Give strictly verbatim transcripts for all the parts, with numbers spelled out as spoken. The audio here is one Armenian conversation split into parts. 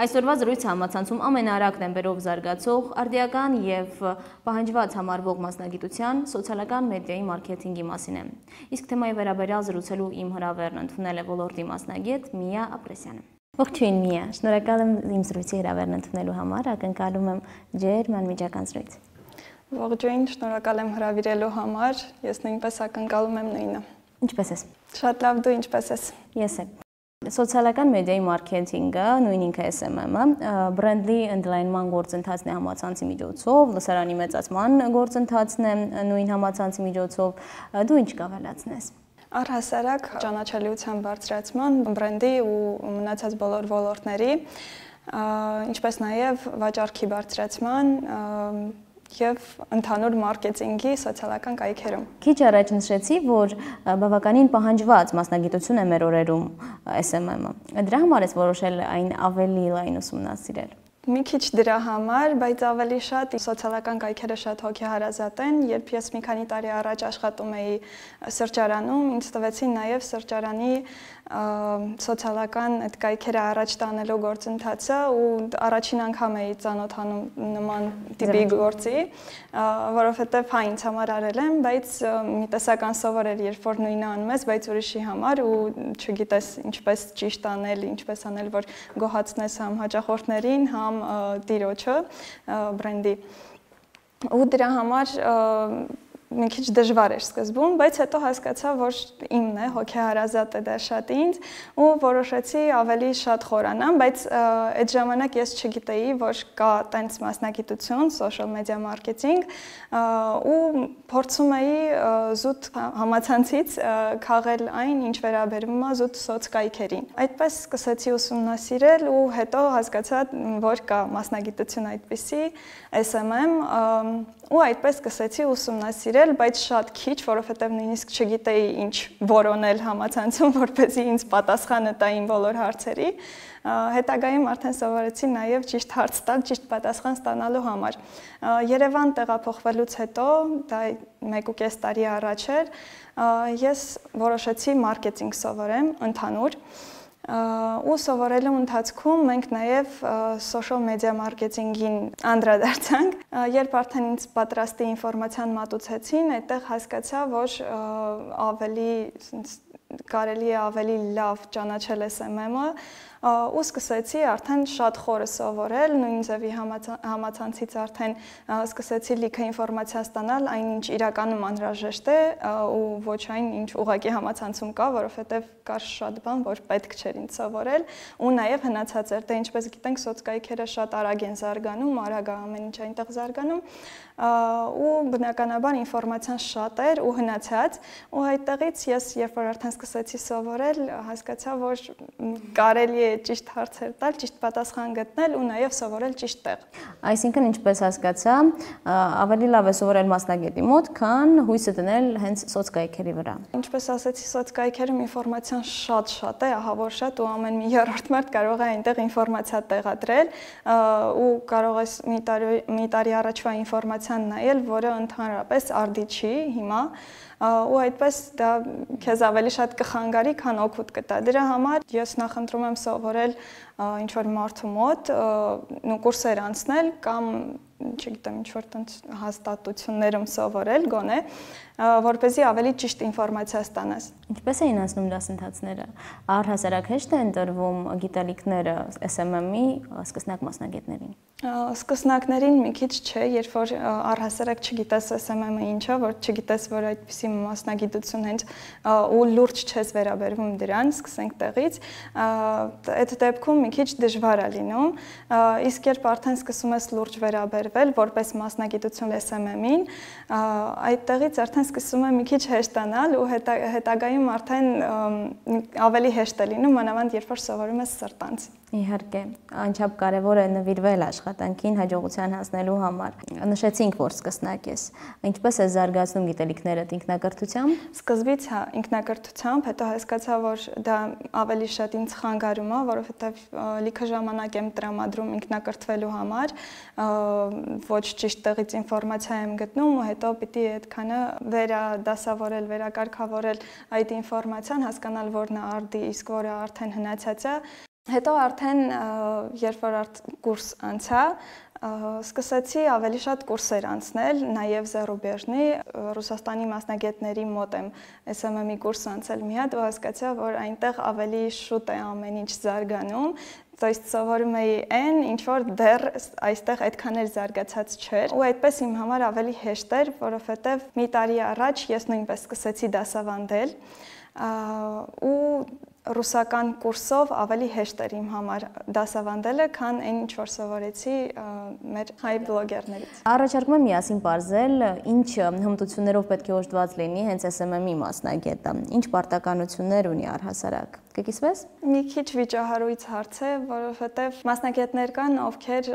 Այսօրվա զրույցը համացանցում ամենաարագ տեմպերով զարգացող, արդիական և պահանջված համարվող մասնագիտության սոցիալական մեդիայի մարքեթինգի մասին է։ Իսկ թեմայի վերաբերյալ զրուցելու իմ հրավերն ընդունել է ոլորտի մասնագետ Միա Ապրեսյանը։ Ողջույն Միա, շնորհակալ եմ իմ զրույցի հրավերն ընդունելու համար, ակնկալում եմ ջերմ անմիջական զրույց։ Ողջույն, շնորհակալ եմ հրավիրելու համար, ես նույնպես ակնկալում եմ նույնը։ Ինչպե՞ս ես։ Շատ լավ, դու ինչպե՞ս ես։ Ես եմ։ Սոցիալական մեդիայի մարքեթինգը, նույն ինքը էս էմ էմ-ը, բրենդի ընդլայնման գործընթացն է համացանցի միջոցով, լսարանի մեծացման գործընթացն է նույն համացանցի միջոցով, դու ինչ կավելացնես։ Առհասարակ ճանաչելիության բարձրացման, բրենդի ու մնացած բոլոր ոլորտների, ինչպես նաև վաճառքի բարձրացման և ընդհանուր մարքեթինգի սոցիալական կայքերում։ Քիչ առաջ նշեցի, որ բավականին պահանջված մասնագիտություն է մեր օրերում էս էմ էմ-ը։ Դրա համար ես որոշել այն ավելի լայն ուսումնասիրել։ Մի քիչ դրա համար, բայց ավելի շատ սոցիալական կայքերը շատ հոգեհարազատ են, երբ ես մի քանի տարի առաջ աշխատում էի սրճարանում, ինձ տվեցին նաև սրճարանի սոցիալական այդ կայքերը առաջ տանելու գործընթացը ու առաջին անգամ էի ծանոթանում նման տիպի գործի, որովհետև հա ինձ համար արել եմ, բայց մի տեսական սովոր էր, երբ որ նույնը անում ես, բայց ուրիշի համար ու չգիտես ինչպես ճիշտ անել, ինչպես անել, որ գոհացնես համ հաճախորդներին, համ տիրոջը, բրենդի։ Ու դրա համար մի քիչ դժվար էր սկզբում, բայց հետո հասկացա, որ իմն է, հոգեհարազատ է դա շատ ինձ ու որոշեցի ավելի շատ խորանամ, բայց այդ ժամանակ ես չգիտեի, որ կա տենց մասնագիտություն, social media marketing ու փորձում էի զուտ համացանցից քաղել այն, ինչ վերաբերում է զուտ սոցկայքերին։ Այդպես սկսեցի ուսումնասիրել ու հետո հասկացա, որ կա մասնագիտություն այդպիսի, էս էմ էմ, ու այդպես սկսեցի ուսումնասիրել, բայց շատ քիչ, որովհետև նույնիսկ չգիտեի ինչ որոնել համացանցում, որպեսզի ինձ պատասխանը տա իմ բոլոր հարցերի։ Հետագայում արդեն սովորեցի նաև ճիշտ հարց տալ, ճիշտ պատասխան ստանալու համար։ Երևան տեղափոխվելուց հետո, դա մեկ ու կես տարի առաջ էր, ես որոշեցի մարքեթինգ սովորեմ ընդհանուր։ Ու սովորելու ընթացքում մենք նաև social media marketing-ին անդրադարձանք, երբ արդեն ինձ պատրաստի ինֆորմացիան մատուցեցին, այդտեղ հասկացա, որ ավելի կարելի է ավելի լավ ճանաչել էս էմ էմ-ը ու սկսեցի արդեն շատ խորը սովորել, նույն ձևի համացանցից արդեն սկսեցի լիքը ինֆորմացիա ստանալ, այն ինչ իրականում անհրաժեշտ է ու ոչ այն, ինչ ուղղակի համացանցում կա, որովհետև կար շատ բան, որ պետք չէր ինձ սովորել ու նաև հնացած էր, դե ինչպես գիտենք, սոցկայքերը շատ արագ են զարգանում, արագ է ամեն ինչ այնտեղ զարգանում ու բնականաբար ինֆորմացիան շատ էր ու հնացած ու այդտեղից ես երբ որ արդեն սկսեցի սովորել, հասկացա, որ կարելի է ճիշտ հարցեր տալ, ճիշտ պատասխան գտնել ու նաև սովորել ճիշտ տեղ։ Այսինքն, ինչպես հասկացա, ավելի լավ է սովորել մասնագետի մոտ, քան հույսը դնել հենց սոցկայքերի վրա։ Ինչպես ասեցի, սոցկայքերում ինֆորմացիան շատ-շատ է, ահա որ շատ ու ամեն մի երրորդ մարդ կարող է այնտեղ ինֆորմացիա տեղադրել ու կարող ես մի տարի, մի տարի առաջվա ինֆորմացիան նայել, որը ընդհանրապես արդի չի հիմա ու այդպես դա քեզ ավելի շատ կխանգարի, քան օգուտ կտա։ Դրա համար ես նախընտրում եմ սովորել ինչ-որ մարդու մոտ, կուրսեր անցնել կամ չգիտեմ, ինչ-որ տենց հաստատություններում սովորել գոնե, որպեսզի ավելի ճիշտ ինֆորմացիա ստանաս։ Ինչպես էին անցնում դասընթացները։ Առհասարակ հեշտ է ընտրվում գիտելիքները էս էմ էմ-ի սկսնակ մասնագետներին։ Սկսնակներին մի քիչ չէ, երբ որ առհասարակ չգիտես էս էմ էմ-ը ինչ է, որ չգիտես, որ այդպիսի մասնագիտություն հենց ու լուրջ չես վերաբերվում դրան, սկսենք տեղից, այդ դեպքում մի քիչ դժվար է լինում, իսկ երբ արդեն սկսում ես լուրջ վերաբերվել որպես մասնագիտություն էս էմ էմ-ին, այդտեղից արդեն սկսում է մի քիչ հեշտանալ ու հետագայում արդեն ավելի հեշտ է լինում, մանավանդ երբ որ սովորում ես սրտանց։ Իհարկե, անչափ կարևոր է նվիրվել աշխատանքին հաջողության հասնելու համար։ Նշեցինք, որ սկսնակ ես։ Ինչպես է զարգացնում գիտելիքներդ ինքնակրթությամբ։ Սկզբից հա, ինքնակրթությամբ, հետո հասկացա, որ դա ավելի շատ ինձ խանգարում է, որովհետև լիքը ժամանակ եմ տրամադրում ինքնակրթվելու համար, ոչ ճիշտ տեղից ինֆորմացիա եմ գտնում ու հետո պիտի այդքանը վերադասավորել, վերակարգավորել այդ ինֆորմացիան, հասկանալ, որն է արդի, իսկ որը արդեն հնացած է։ Հետո արդեն երբ որ կուրս անցա, սկսեցի ավելի շատ կուրսեր անցնել, նաև Զարուբեժնի, Ռուսաստանի մասնագետների մոտ եմ էս էմ էմ-ի կուրս անցել մի հատ, ու հասկացա, որ այնտեղ ավելի շուտ է ամեն ինչ զարգանում, то есть սովորում էի այն, ինչ որ դեռ այստեղ այդքան էլ զարգացած չէր, ու այդպես իմ համար ավելի հեշտ էր, որովհետև մի տարի առաջ ես նույնպես սկսեցի դասավանդել, ու ռուսական կուրսով ավելի հեշտ էր իմ համար դասավանդելը, քան այն ինչ որ սովորեցի մեր հայ բլոգերներից։ Առաջարկում եմ միասին բարձել, ինչ հմտություններով պետք է օժտված լինի հենց էս էմ էմ-ի մասնագետը, ինչ պարտականություններ ունի առհասարակ։ Կկիսվես։ Մի քիչ վիճահարույց հարց է, որովհետև մասնագետներ կան, ովքեր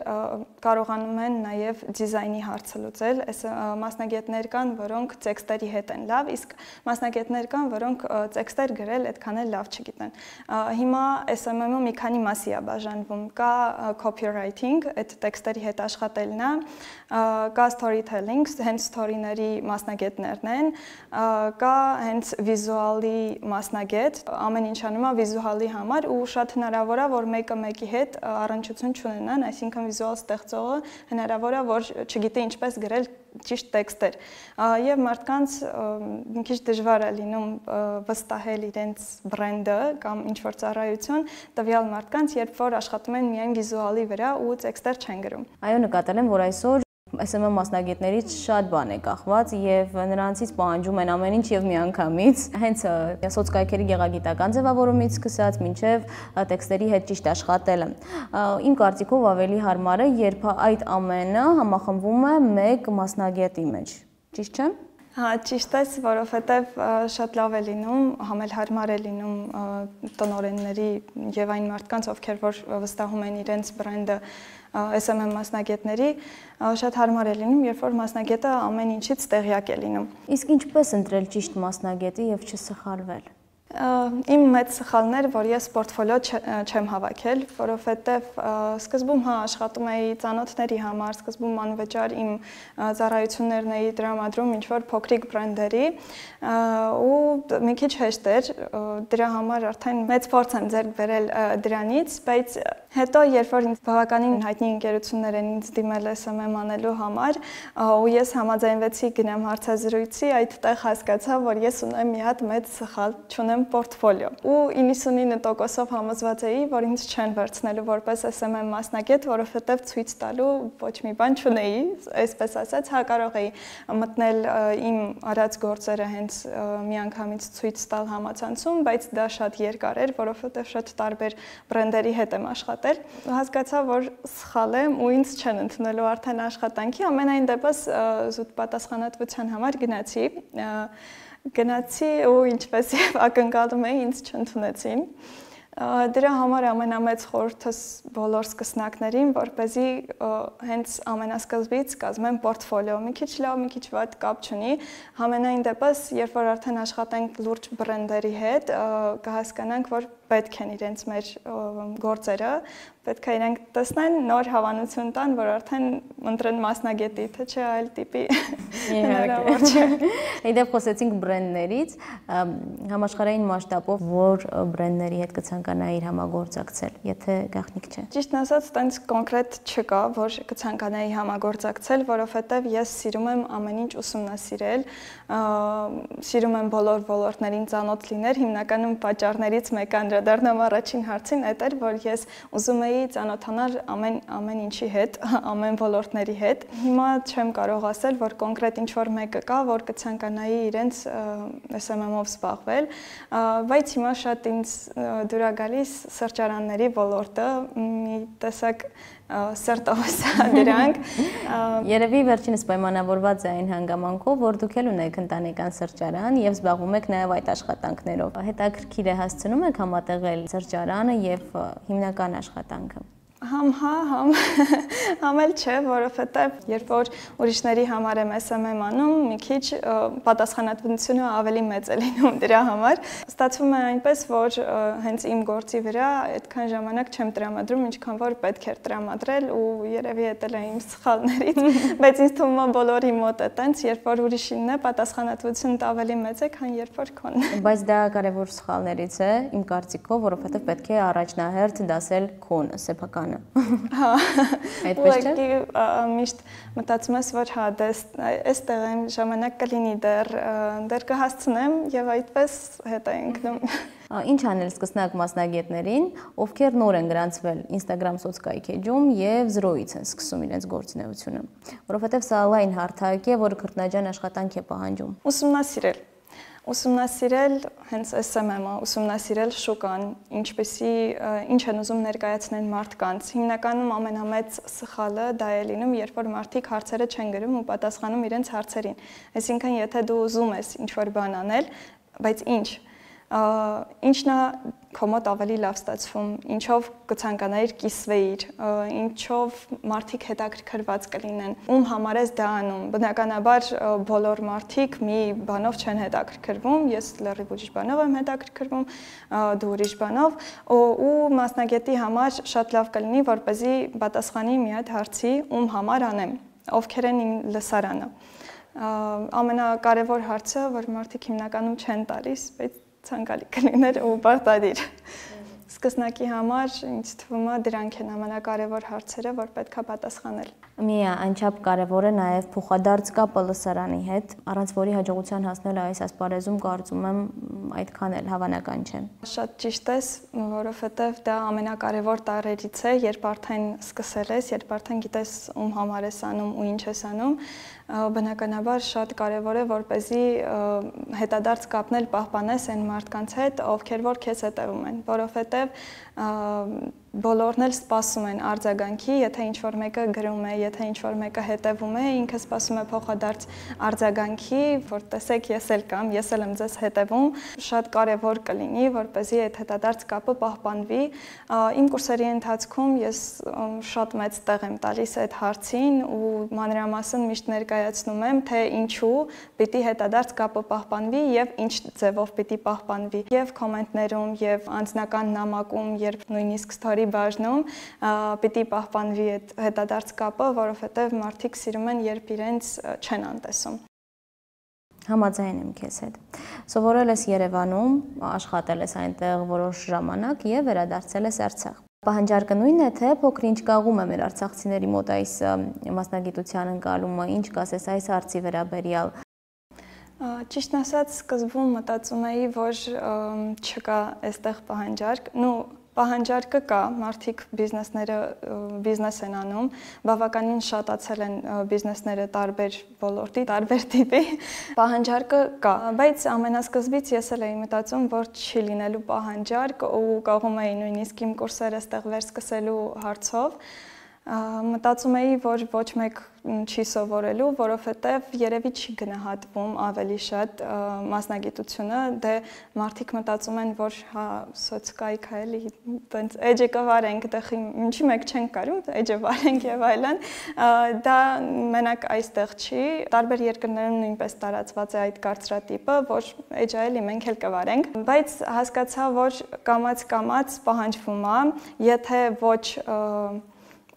կարողանում են նաև դիզայնի հարցը լուծել, այս մասնագետներ կան, որոնք տեքստերի հետ են լավ, իսկ մասնագետներ կան, որոնք տեքստեր գրել այդքան էլ լավ չգիտեն։ Հիմա էս էմ էմ-ը մի քանի մասի է բաժանվում, կա copywriting, այդ տեքստերի հետ աշխատելն է, կա storytelling, հենց story-ների մասնագետներն են, կա հենց վիզուալի մասնագետ, ամեն ինչ անում է վիզուալի համար ու շատ հնարավոր է, որ մեկը մեկի հետ առնչություն չունենան, այսինքն վիզուալ ստեղծողը հնարավոր է, որ չգիտի ինչպես գրել ճիշտ տեքստեր, եւ մարդկանց մի քիչ դժվար է լինում վստահել իրենց բրենդը կամ ինչ-որ ծառայություն տվյալ մարդկանց, երբ որ աշխատում են միայն վիզուալի վրա ու տեքստեր չեն գրում։ Այո, նկատել եմ, որ այսօր էս էմ էմ մասնագետներից շատ բան է կախված եւ նրանցից պահանջում են ամեն ինչ եւ միանգամից, հենց սոցկայքերի գեղագիտական ձևավորումից սկսած մինչեւ տեքստերի հետ ճիշտ աշխատելը։ Իմ կարծիքով ավելի հարմար է, երբ այդ ամենը համախմբվում է մեկ մասնագետի մեջ։ Ճիշտ չէ՞։ Հա, ճիշտ է, որովհետև շատ լավ է լինում, համելհարմար է լինում տնօրենների եւ այն մարդկանց, ովքեր որ վստահում են իրենց բրենդը էս էմ էմ մասնագետների, շատ հարմար է լինում, երբ որ մասնագետը ամեն ինչից տեղյակ է լինում։ Իսկ ինչպես ընտրել ճիշտ մասնագետի եւ չսխալվել։ Իմ մեծ սխալն էր, որ ես պորտֆոլիո չեմ հավաքել, որովհետև սկզբում հա աշխատում էի ծանոթների համար, սկզբում անվճար իմ ծառայություններն էի տրամադրում ինչ-որ փոքրիկ բրենդերի ու մի քիչ հեշտ էր, դրա համար արդեն մեծ փորձ եմ ձեռք բերել դրանից, բայց հետո երբ որ ինձ բավականին հայտնի ընկերություններ են ինձ դիմել էս էմ էմ անելու համար ու ես համաձայնվեցի գնամ հարցազրույցի, այդտեղ հասկացա, որ ես ունեմ մի հատ մեծ սխալ, չունեմ պորտֆոլիո ու իննսունինը տոկոսով համոզված էի, որ ինձ չեն վերցնելու որպես էս էմ էմ մասնագետ, որովհետև ցույց տալու ոչ մի բան չունեի, այսպես ասած, հա կարող էի մտնել իմ արած գործերը հենց միանգամից ցույց տալ համացանցում, բայց դա շատ երկար էր, որովհետև շատ տարբեր բրենդերի հետ եմ աշխատել։ Հասկացա, որ սխալ եմ ու ինձ չեն ընդունելու արդեն աշխատանքի, ամենայն դեպս զուտ պատասխանատվության համար գնացի Գնացի ու ինչպես եւ ակնկալում էի, ինձ չընդունեցին։ Դրա համար ամենամեծ խորհուրդս բոլոր սկսնակներին, որպեսզի հենց ամենասկզբից կազմեն պորտֆոլիո, մի քիչ լավ, մի քիչ վատ կապ չունի, համենայն դեպս, երբ որ արդեն աշխատենք լուրջ բրենդերի հետ, կհասկանանք, որ պետք են իրենց մեր գործերը, պետք է իրենք տեսնեն, նոր հավանություն տան, որ արդեն ընտրեն մասնագետի, թե չէ այլ տիպի հնարավոր չէ։ Իդեպ խոսեցինք բրենդներից, համաշխարհային մասշտաբով որ բրենդների հետ կցանկանայիր համագործակցել, եթե գաղտնիք չէ։ Ճիշտն ասած, տենց կոնկրետ չկա, որ կցանկանայի համագործակցել, որովհետև ես սիրում եմ ամեն ինչ ուսումնասիրել, սիրում եմ բոլոր ոլորտներին ծանոթ լինել, հիմնականում պատճառներից մեկը անդրադառնամ առաջին հարցին, այդ էր, որ ես ուզում էի ծանոթանալ ամեն ամեն ինչի հետ, ամեն ոլորտների հետ։ Հիմա չեմ կարող ասել, որ կոնկրետ ինչ-որ մեկը կա, որ կցանկանայի իրենց էս էմ էմ-ով զբաղվել, բայց հիմա շատ ինձ դուր է գալիս սրճարանների ոլորտը, մի տեսակ սրտովս դրանք։ Երևի վերջինս պայմանավորված է այն հանգամանքով, որ դուք էլ ունեք ընտանեկան սրճարան եւ զբաղվում եք նաեւ այդ աշխատանքներով։ Հետաքրքիր է հասցնում եք համատեղել սրճարանը եւ հիմնական աշխատանքը։ Համ հա, համ համ էլ չէ, որովհետև երբ որ ուրիշների համար եմ էս էմ եմ անում, մի քիչ պատասխանատվությունը ավելի մեծ է լինում դրա համար։ Ստացվում է այնպես, որ հենց իմ գործի վրա այդքան ժամանակ չեմ տրամադրում, ինչքան որ պետք էր տրամադրել ու երևի էտել է իմ սխալներից, բայց ինձ թվում է բոլորի մոտ է տենց, երբ որ ուրիշինն է, պատասխանատվությունդ ավելի մեծ է, քան երբ որ քոնն է։ Բայց դա կարևոր սխալներից է, իմ կարծիքով, որովհետև պետք է առաջնահերթ դասել քոնը, սեփական Հա, այդպես չէ։ Միշտ մտածում ես, որ հա, այստեղ եմ ժամանակ կլինի դեռ, դեռ կհասցնեմ եւ այդպես հետ է ընկնում։ Ինչ անել սկսնակ մասնագետներին, ովքեր նոր են գրանցվել Instagram սոցկայքեջում եւ զրոյից են սկսում իրենց գործունեությունը, որովհետեւ սա լայն հարթակ է, որը քրտնաջան աշխատանք է պահանջում։ Ուսումնասիրել Ուսումնասիրել հենց էս էմ եմ-ը, ուսումնասիրել շուկան, ինչպեսի ինչ են ուզում ներկայացնել մարդկանց։ Հիմնականում ամենամեծ սխալը դա է լինում, երբ որ մարդիկ հարցերը չեն գրում ու պատասխանում իրենց հարցերին։ Այսինքն, եթե դու ուզում ես ինչ-որ բան անել, բայց ինչ, ինչն է քո մոտ ավելի լավ ստացվում, ինչով կցանկանայիր կիսվեիր, ինչով մարդիկ հետաքրքրված կլինեն, ում համար ես դա անում։ Բնականաբար բոլոր մարդիկ մի բանով չեն հետաքրքրվում, ես լրիվ ուրիշ բանով եմ հետաքրքրվում, դու ուրիշ բանով, ու մասնագետի համար շատ լավ կլինի, որպեսզի պատասխանի մի հատ հարցի, ում համար անեմ, ովքեր են իմ լսարանը։ Ամենակարևոր հարցը, որ մարդիկ հիմնականում չեն տալիս, բայց ցանկալի կլիներ ու պարտադիր։ Սկսնակի համար ինձ թվում է դրանք են ամենակարևոր հարցերը, որ պետք է պատասխանել։ Մի անչափ կարևոր է նաև փոխադարձ կապը լսարանի հետ, առանց որի հաջողության հասնելը այս ասպարեզում կարծում եմ այդքան էլ հավանական չէ։ Շատ ճիշտ ես, որովհետև դա ամենակարևոր տարերից է, երբ արդեն սկսել ես, երբ արդեն գիտես ում համար ես անում ու ինչ ես անում, բնականաբար շատ կարևոր է, որպեսզի հետադարձ կապնել պահպանես այն մարդկանց հետ, ովքեր որ քեզ հետևում են, որովհետև բոլորն էլ սպասում են արձագանքի, եթե ինչ-որ մեկը գրում է, եթե ինչ-որ մեկը հետևում է, ինքը սպասում է փոխադարձ արձագանքի, որ տեսեք ես էլ կամ, ես էլ եմ ձեզ հետևում, շատ կարևոր կլինի, որպեսզի այդ հետադարձ կապը պահպանվի։ Իմ կուրսերի ընթացքում ես շատ մեծ տեղ եմ տալիս այդ հարցին ու մանրամասն միշտ ներկայացնում եմ, թե ինչու պիտի հետադարձ կապը պահպանվի եւ ինչ ձևով պիտի պահպանվի։ Եվ կոմենտներում, եւ անձնական նամակում, երբ նույնիսկ story բաժնում պիտի պահպանվի այդ հետադարձ կապը, որովհետև մարդիկ սիրում են, երբ իրենց չեն անտեսում։ Համաձայն եմ քեզ հետ։ Սովորել ես Երևանում, աշխատել ես այնտեղ որոշ ժամանակ եւ վերադարձել ես Արցախ։ Պահանջարկը նույնն է, թե փոքր-ինչ կաղում է մեր արցախցիների մոտ այս մասնագիտության ընկալումը, ինչ կասես այս հարցի վերաբերյալ։ Ճիշտն ասած, սկզբում մտածում էի, որ չկա այստեղ պահանջարկ, նու Պահանջարկը կա, մարդիկ բիզնեսները բիզնես են անում, բավականին շատացել են բիզնեսները տարբեր ոլորտի, տարբեր տիպի, պահանջարկը կա, բայց ամենասկզբից ես էլ էի մտածում, որ չի լինելու պահանջարկ ու կաղում էի նույնիսկ իմ կուրսերը ստեղ վերսկսելու հարցով, մտածում էի, որ ոչ մեկ չի սովորելու, որովհետև երևի չի գնահատվում ավելի շատ մասնագիտությունը, դե մարդիկ մտածում են, որ հա սոցկայք է էլի, տենց էջը կվարենք, դե ինչի մեկ չենք կարում, էջը վարենք եւ այլն, դա մենակ այստեղ չի, տարբեր երկրներում նույնպես տարածված է այդ կարծրատիպը, որ էջը էլի մենք էլ կվարենք, բայց հասկացա, որ կամաց-կամաց պահանջվում է, եթե ոչ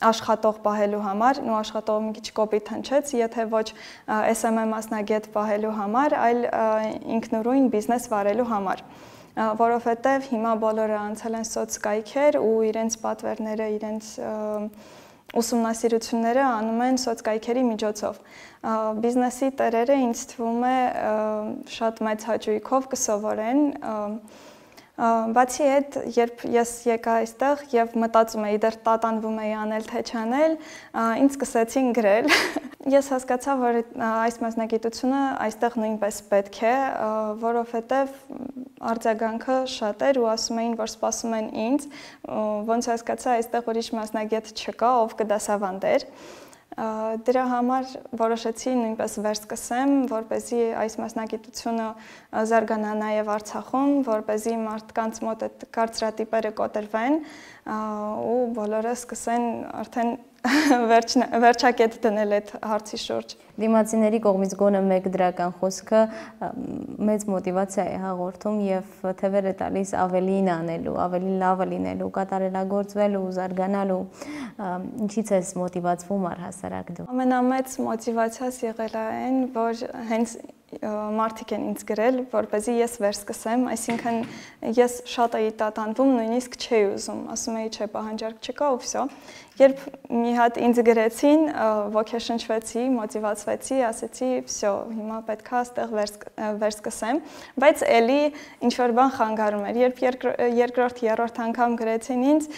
աշխատող պահելու համար, ու աշխատողը մի քիչ կոպիտ հնչեց, եթե ոչ էս էմ եմ մասնագետ պահելու համար, այլ ինքնուրույն բիզնես վարելու համար, որովհետև հիմա բոլորը անցել են սոցկայքեր ու իրենց պատվերները, իրենց ուսումնասիրությունները անում են սոցկայքերի միջոցով։ Բիզնեսի տերերը ինձ թվում է շատ մեծ հաճույքով կսովորեն, Բացի այդ, երբ ես եկա այստեղ եւ մտածում էի, դեռ տատանվում էի անել թե չանել, ինձ սկսեցին գրել։ Ես հասկացա, որ այս մասնագիտությունը այստեղ նույնպես պետք է, որովհետեւ արձագանքը շատ էր ու ասում էին, որ սպասում են ինձ, ոնց հասկացա, այստեղ ուրիշ մասնագետ չկա, ով կդասավանդեր։ Դրա համար որոշեցի նույնպես վերսկսեմ, որպեսզի այս մասնագիտությունը զարգանա նաև Արցախում, որպեսզի մարդկանց մոտ այդ կարծրատիպերը կոտրվեն ու բոլորը սկսեն արդեն վերջակետ դնել այդ հարցի շուրջ։ Դիմացիների կողմից գոնը մեկ դրական խոսքը մեծ մոտիվացիա է հաղորդում եւ թևեր է տալիս ավելին անելու, ավելի լավը լինելու, կատարելագործվելու, զարգանալու։ Ինչից ես մոտիվացվում առհասարակ դու։ Ամենամեծ մոտիվացիաս եղել է այն, որ հենց մարդիկ են ինձ գրել, որպեսզի ես վերսկսեմ, այսինքն ես շատ էի տատանվում, նույնիսկ չէի ուզում, ասում էի չէ, պահանջարկ չկա ու վсё։ Երբ մի հատ ինձ գրեցին, ոգեշնչվեցի, մոտիվացվեցի, ասեցի, վсё, հիմա պետք է այստեղ վերսկսեմ, բայց էլի ինչ որ բան խանգարում էր։ Երբ երկրորդ, երրորդ անգամ գրեցին ինձ,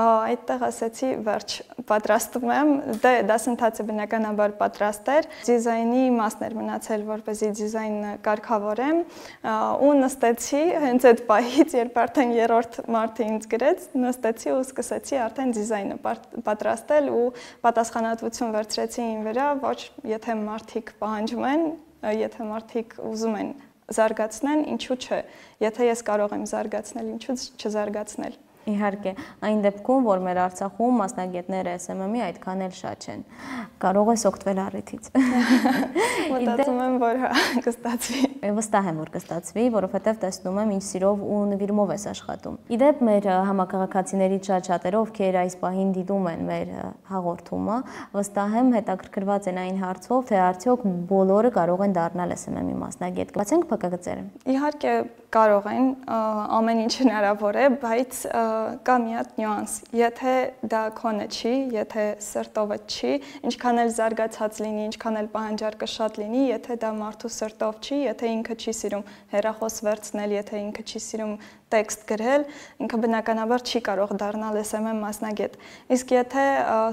այդտեղ ասեցի, վերջ, պատրաստում եմ, դե դասընթացը բնականաբար պատրաստ էր, դիզայնի մասն էր մնացել, որպեսզի դիզայնը կարգավորեմ ու նստեցի հենց այդ պահից, երբ արդեն երրորդ մարդը ինձ գրեց, նստեցի ու սկսեցի արդեն դիզայնը պատրաստել ու պատասխանատվություն վերցրեցի իմ վրա, ոչ եթե մարդիկ պահանջում են, եթե մարդիկ ուզում են զարգացնեն, ինչու՞ չէ, եթե ես կարող եմ զարգացնել, ինչու՞ չզարգացնել։ Իհարկե, այն դեպքում, որ մեր Արցախում մասնագետները S M M-ի այդքան էլ շատ չեն, կարող ես օգտվել առիթից։ Մտածում եմ, որ կստացվի։ Վստահ եմ, որ կստացվի, որովհետև տեսնում եմ, ինչ սիրով ու նվիրումով ես աշխատում։ Իդեպ մեր համակարգացիներից շատ-շատերը, ովքեր այս պահին դիտում են մեր հաղորդումը, վստահ եմ հետաքրքրված են այն հարցով, թե արդյոք բոլորը կարող են դառնալ S M M-ի մասնագետ։ Բացենք փակագծերը։ Իհարկե կարող են, ամեն ինչ հնարավոր է, բայց կա մի հատ նյուանս, եթե դա քոնը չի, եթե սրտովդ չի, ինչքան էլ զարգացած լինի, ինչքան էլ պահանջարկը շատ լինի, եթե դա մարդու սրտով չի, եթե ինքը չի սիրում հեռախոս վերցնել, եթե ինքը չի սիրում տեքստ գրել, ինքը բնականաբար չի կարող դառնալ S M M մասնագետ։ Իսկ եթե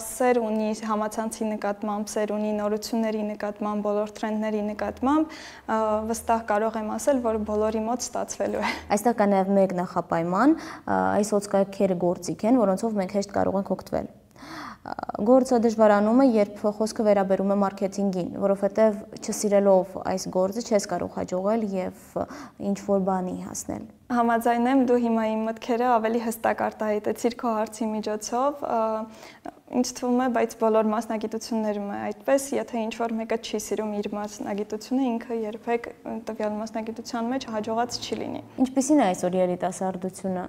սեր ունի համացանցի նկատմամբ, սեր ունի նորությունների նկատմամբ, բոլոր տրենդների նկատմամբ, վստահ կարող եմ ասել, որ բոլորի մոտ ստացվելու է։ Այստեղ կա նաև մեկ նախապայման, այս հոսքերքերը գործիք են, որոնցով մենք հեշտ կարող ենք օգտվել։ Գործը դժվարանում է, երբ խոսքը վերաբերում է մարքեթինգին, որովհետև չսիրելով այս գործը չես կարող հաջողել եւ ինչ-որ բանի հասնել։ Համաձայն եմ, դու հիմա իմ մտքերը ավելի հստակ արտահայտեցիր քո հարցի միջոցով, ինձ թվում է, բայց բոլոր մասնագիտություններում է այդպես, եթե ինչ-որ մեկը չի սիրում իր մասնագիտությունը, ինքը երբեք տվյալ մասնագիտության մեջ հաջողած չի լինի։ Ինչպիսին է այսօր երիտասարդությունը,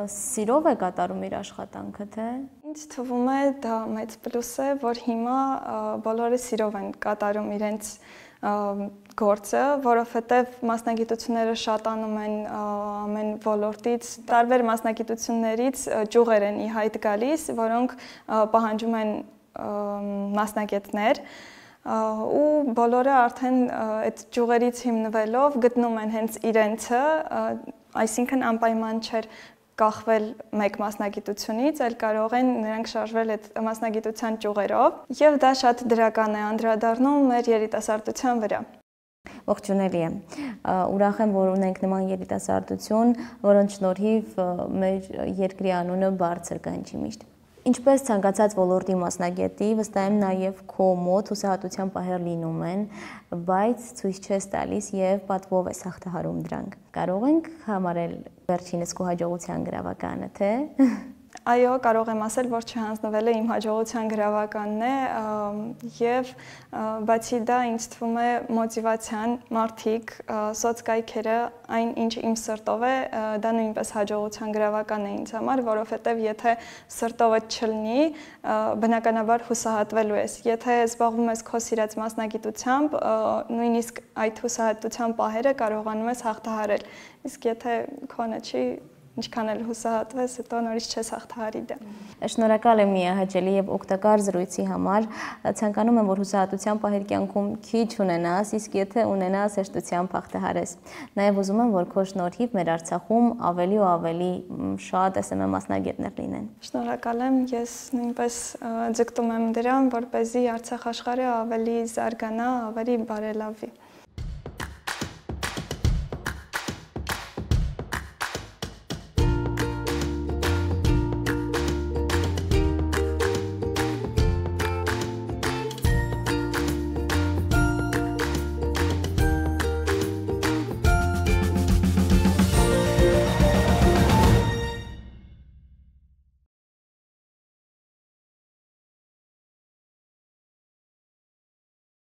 սիրով է կատարում իր աշխատանքը, թե։ Ինձ թվում է դա մեծ պլյուս է, որ հիմա բոլորը սիրով են կատարում իրենց գործը, որովհետև մասնագիտությունները շատանում են ամեն ոլորտից, տարբեր մասնագիտություններից ճյուղեր են ի հայտ գալիս, որոնք պահանջում են մասնագետներ, ու բոլորը արդեն այդ ճյուղերից հիմնվելով գտնում են հենց իրենցը, այսինքն անպայման չէր կախվել մեկ մասնագիտությունից, այլ կարող են նրանք շարժվել այդ մասնագիտության ճյուղերով, եւ դա շատ դրական է անդրադառնում մեր երիտասարդության վրա։ Ողջունելի է։ Ուրախ եմ, որ ունենք նման երիտասարդություն, որոնց շնորհիվ մեր երկրի անունը բարձր կհնչի միշտ։ Ինչպես ցանկացած ոլորտի մասնագետի, վստահ եմ նաև քո մոտ հուսահատության պահեր լինում են, բայց ցույց չես տալիս եւ պատվով ես հաղթահարում դրանք։ Կարող ենք համարել վերջինս քո հաջողության գրավականը, թե։ Այո, կարող եմ ասել, որ չհանձնվել է իմ հաջողության գրավականն է եւ բացի դա ինձ թվում է մոտիվացիան, մարդիկ, սոցկայքերը, այն ինչ իմ սրտով է, դա նույնպես հաջողության գրավական է ինձ համար, որովհետեւ եթե սրտովը չլինի, բնականաբար հուսահատվելու ես։ Եթե զբաղվում ես քո սիրած մասնագիտությամբ, նույնիսկ այդ հուսահատության պահերը կարողանում ես հաղթահարել։ Իսկ եթե քոնը չի, ինչքան էլ հուսահատվես, հետո նորից չես հաղթահարի դա։ Շնորհակալ եմ միահաճելի եւ օգտակար զրույցի համար։ Ցանկանում եմ, որ հուսահատության պահեր կյանքում քիչ ունենաս, իսկ եթե ունենաս, հեշտությամբ հաղթահարես։ Նաեւ ուզում եմ, որ քո շնորհիվ մեր Արցախում ավելի ու ավելի շատ S M M մասնագետներ լինեն։ Շնորհակալ եմ, ես նույնպես ձգտում եմ դրան, որպեսզի Արցախ աշխարհը ավելի զարգանա, ավելի բարելավի։